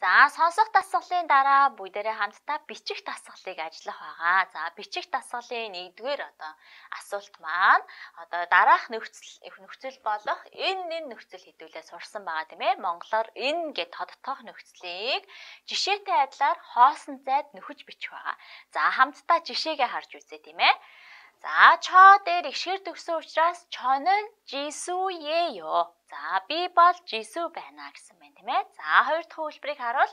За сонсох дасгалын дараа бүгдээрээ хамтдаа бичих дасгалыг ажиллах байгаа. За бичих дасгалын 1-р асуулт маань дараах нөхцөл болох энэ нөхцөл хэдүүлээ сурсан байгаа тийм ээ. Монголоор энэ гэд тодтоох нөхцөлийг жишээтэй адилаар хоосон зайд нөхөж бичих байгаа. За хамтдаа жишээгээ харж үзье тийм ээ. За чо дээр ишгэр төгсөн учраас чо는 지수예요. За би бол 지수 байна гэсэн байна тийм ээ. За хоёр дахь үйлбэрийг харуул.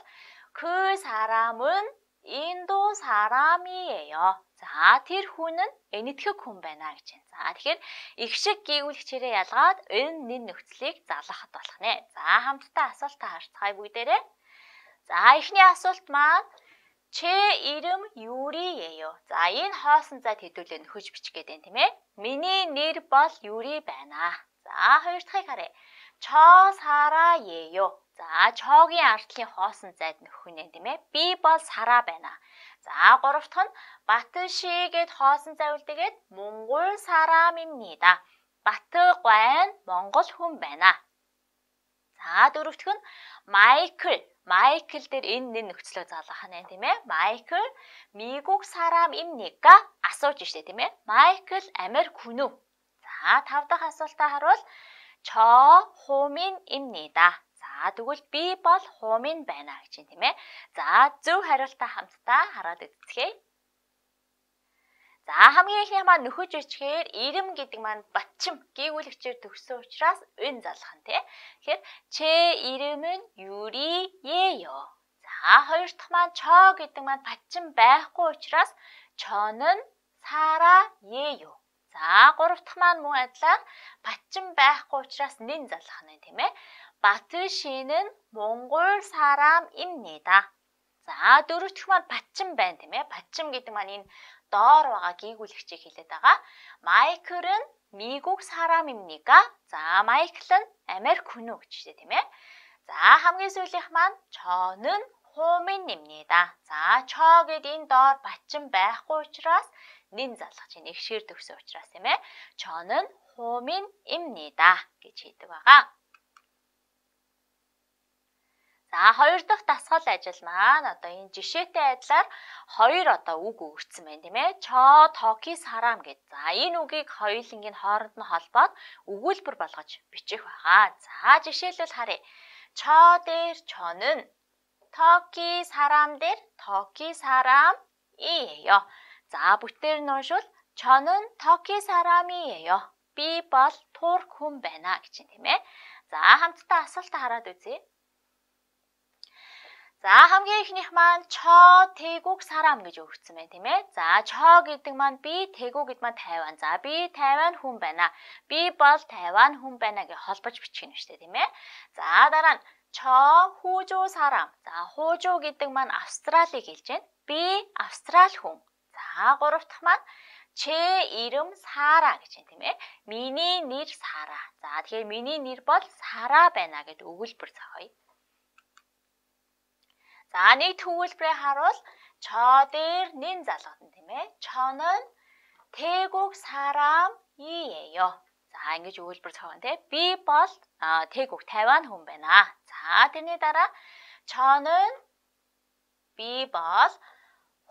그 사람은 인도 사람이에요. За тэр хүн нь энэтхэг хүн байна гэж байна. За тэгэхээр их шиг гүйгүүлэгчээрээ ялгаад энэ нөхцөлийг залгахад болох нэ. За хамтдаа асуултаа харцгаая бүгдээрээ. За эхний асуулт маань 제 이름 유리예요. За энэ хоосон зайд хэдүүлээ нөхөж бичих гээд байна тийм ээ. Миний нэр бол 유리 байна. За хоёр дахьыг харъя. 저 사라예요. За чогийн ардлын хоосон зайд нөхөх нь тийм ээ. Би бол сара байна. За гурав дахь нь 바트시 гэд хоосон зай үлдээгээд 몽골 사람입니다. 바트 гуайн монгол хүн байна. За дөрөв дахь нь 마이클 дээр энэ нөхцлөө залгах нь тийм ээ. 마이클 미국 사람입니까? асууж штэ тийм ээ. 마이클 Америк хүн үү? За тав дахь асуултаа харуул. 저 호민입니다. За тэгвэл би бол 호민 байна гэж юм тийм ээ. За зөв хариултаа хамтдаа хараад үзье. За хамгийн ихний маань нөхөж бичгээр ирэм гэдэг маань 받침 гүйгүүлэгчээр төгссөн учраас энэ залгах нь тий. Тэгэхээр 제 이름은 유리예요. За хоёр дахь маань чо гэдэг маань 받침 байхгүй учраас 저는 사라예요. За гурав дахь маань мөн адилаар 받침 байхгүй учраас нэн залгах нь тийм ээ. 바트시는 몽골 사람입니다. За дөрөв дахь маань 받침 байна тийм ээ. 받침 гэдэг маань энэ доор байгаа гүйгүүлэгчийг хэлээд байгаа. 마이클은 미국 사람입니까? За 마이클은 Америк хүн үү гэж тийм ээ. За хамгийн сүүлийнх маань 저는 호민입니다. За чо гэдэг энэ доор 받침 байхгүй учраас нэн залгаж байна. Ихшээр төгсөн учраас тийм ээ. 저는 호민입니다 гэж хэлдэг байгаа. За хоёр дахь дасгал ажил маань энэ жишээтэй адилаар хоёр үг өгсөн байна тийм ээ. чо токи сарам гэд. За энэ үгийг хоёулангийн хооронд нь холбоод өгүүлбэр болгож бичих байгаа. За жишээлбэл харъя. чо дээр чо는 터키 사람 дээр 터키 사람이에요. За бүтээр нь уншвал 저는 터키 사람이에요. би бол турк хүн байна гэж юм тийм ээ. За хамтдаа асуултаа хараад үзье. За хамгийн ихнийх маань чо 태국 사람 гэж өгсөн байна тийм ээ. За чо гэдэг маань би, 태국 гэдэг маань Тайван. За би Тайван хүн байна. Би бол Тайван хүн байна гэж холбож бичих юм шүү дээ тийм ээ. За дараа нь чо 호주 사람. За 호주 гэдэг маань Австралийг хэлж байна. Би Австрал хүн. За гурав дахь маань 제 이름 사라 гэж байна тийм ээ. Миний нэр Сара. За тэгэхээр миний нэр бол Сара байна гэдэг өгүүлбэр зохиоё. За нэг төвлөрөө харуул. 저 дээр нэн залгадна тийм ээ. 저는 태국 사람이에요. За ингэж өгүүлбэр зохион тийм. Би бол 태국 Тайван хүн байна. За тэрний дараа 저는 би бол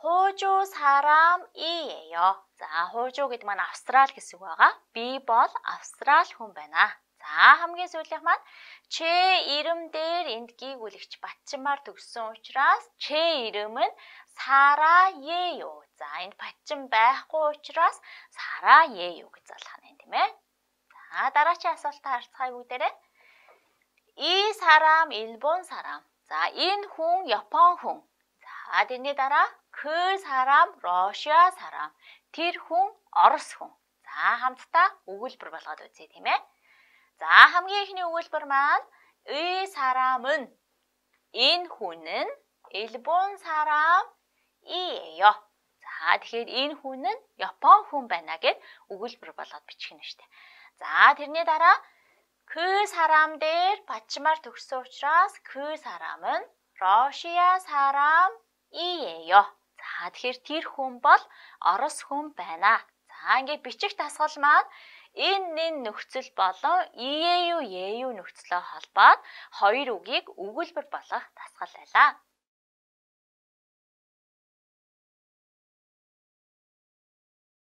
호주 사람이에요. За 호주 гэдэг маань Австрал гэсэн үг байгаа. Би бол Австрал хүн байна. За хамгийн сүүлийнх маань 제 이름 дээр энд гүйгүүлэгч 받침аар төгссөн учраас 제 이름은 사라예요. За энд 받침 байхгүй учраас 사라예요 гэж залгах нь тийм ээ. За дараагийн асуултаа харцгаая бүгдээрээ. 이 사람 일본 사람. За энэ хүн Япон хүн. За тэрний дараа 그 사람 러시아 사람. Тэр хүн Орос хүн. За хамтдаа өгүүлбэр болгоод үзье тийм ээ. За хамгийн ихний өгүүлбэр маань 이 사람은 энэ хүн은 일본 사람이에요. За тэгэхээр энэ хүн нь Япон хүн байна гэд өгүүлбэр болгоод бичих нь шүү дээ. За тэрний дараа 그 사람 дээр 받침аар төгссөн учраас 그 사람은 러시아 사람이에요. За тэгэхээр тэр хүн бол Орос хүн байна. За ингээд бичих дасгал маань энэ нөхцөл болон ию нөхцлөө холбоод хоёр үгийг өгүүлбэр болгох дасгал байлаа.